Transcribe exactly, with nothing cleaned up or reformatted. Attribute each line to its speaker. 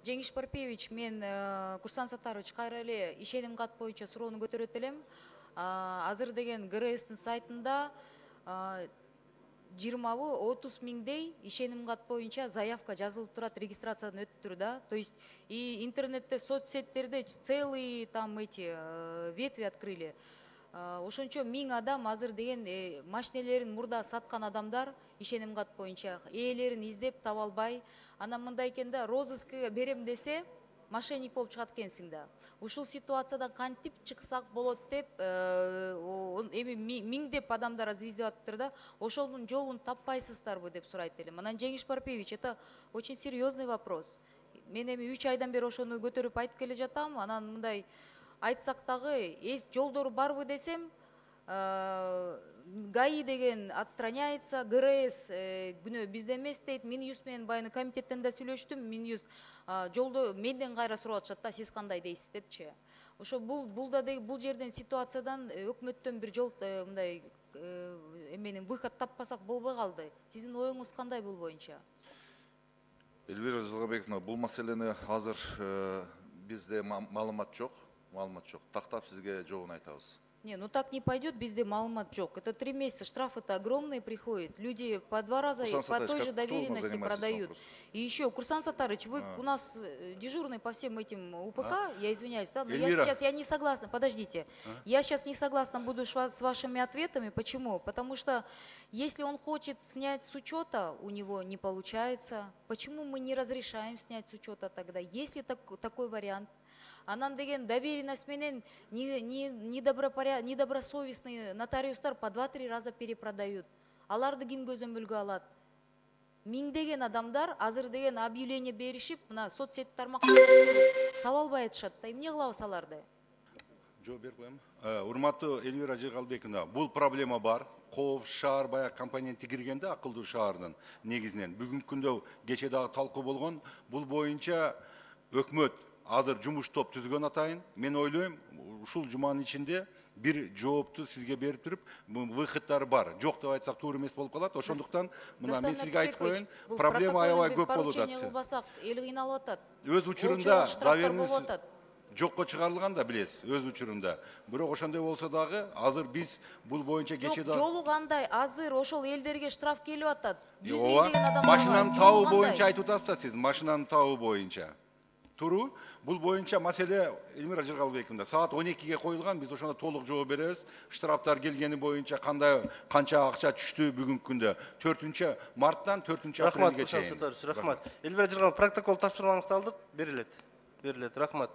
Speaker 1: Жеңиш Парпиевич, мен Курсан Саттарович кайра эле ишеним кат боюнча суроону көтөрөт элем. Азыр деген ГРСтин сайтында жыйырмабы отуз миңдей ишеним кат боюнча заявка жазылып турат, регистрациядан өттүр да. То есть и интернетте, соцсеттерде целый там эти ветви открыли. Ошончо миң адам азыр деген машинелерин мурда саткан адамдар ишеним кат боюнча ээлерин издеп таба албай, анан мындай экен да, розыскка берем десе мошенник болуп чыгат экенсиң да. Ушул ситуациядан кантип чыксак болот деп, эми миңдеп адамдар издеп атыптыр да, ошонун жолун таппайсыздарбы деп сурайт элем. Анан Жеңиш Парпиевич, это очень серьезный вопрос. Мен эми үч айдан бери ошону көтөрүп айтып келе жатам, анан мындай айтсак дагы эс жолдору барбы десем, ГАИ деген отстраняется, ГРС күнөө бизде эмес дейт. Минюст менен баягы комитеттен да сүйлөштүм. Минюст жолду менден кайра сурап атышат да, сиз кандай дейсиз депчи. Ошо бул бул да бул жерден ситуациядан өкмөттөн бир жол мындай эменин выход таппасак болбой калды. Сиздин оюңуз кандай бул боюнча?
Speaker 2: Элвира Жылгабековна, бул маселени азыр бизде маалымат жок, маалымат жок. Тактап сизге жообун айтабыз.
Speaker 1: Не, ну так не пойдет, безде маалымат жок. Это три месяца, штрафы-то огромные приходят. Люди по два раза, по той же доверенности продают. И еще, Курсан Саттарович, вы у нас дежурный по всем этим УПК, я извиняюсь, да, но я сейчас я не согласна, подождите, я сейчас не согласна буду с вашими ответами. Почему? Потому что если он хочет снять с учета, у него не получается. Почему мы не разрешаем снять с учета тогда? Есть ли такой вариант? Анан деген доверенность менен недобросовестный нотариустар по два-три раза перепродают. Аларды ким көзөмөлгө алат? Миңдеген адамдар азыр деген объявление беришип, мына соцсет тармактарда таба албай атышат да. Эмне кылабыз аларды?
Speaker 3: Жооп берип коем. Урматтуу Элвира Жыгалбековна, бул проблема бар. Кооп шаар баягы компоненти киргенде, акылдуу шаардын негизинен бүгүнкү күндө кече дагы талкуу болгон. Бул боюнча өкмөт азыр жумуш топ түзгөн атайын. Мен ойлойм, ушул жуманын ичинде бир жоопту сизге берип туруп, выходдары бар. Жок деп айтсак туура эмес болуп калат. Ошондуктан мына мен сизге айтып коеюн, проблема аябай көп болуп атат.
Speaker 1: Эл кыйналып атат.
Speaker 3: Өз учурунда доверенность жокко чыгарылган да, билесиз, өз учурунда. Бирок ошондой болсо дагы азыр биз бул боюнча кече дагы
Speaker 1: жолу кандай? Азыр ошол элдерге штраф келип атат.
Speaker 3: Ооба, машинаны табуу боюнча айтып атасыз да сиз, машинаны табуу боюнча. Туру, бул боюнча маселе Эльмира Жыргалбековна саат он экиге коюлган, биз ошондо толук жооп беребиз. Штрафтар келгени боюнча кандай канча акча түштү бүгүнкү күндө төртүнчү марттан төртүнчү апрелге чейин.
Speaker 4: Рахмат. Эльмира Жыргалбековна, протокол тапшырмаңызды алдык, берилет. Берилет. Рахмат.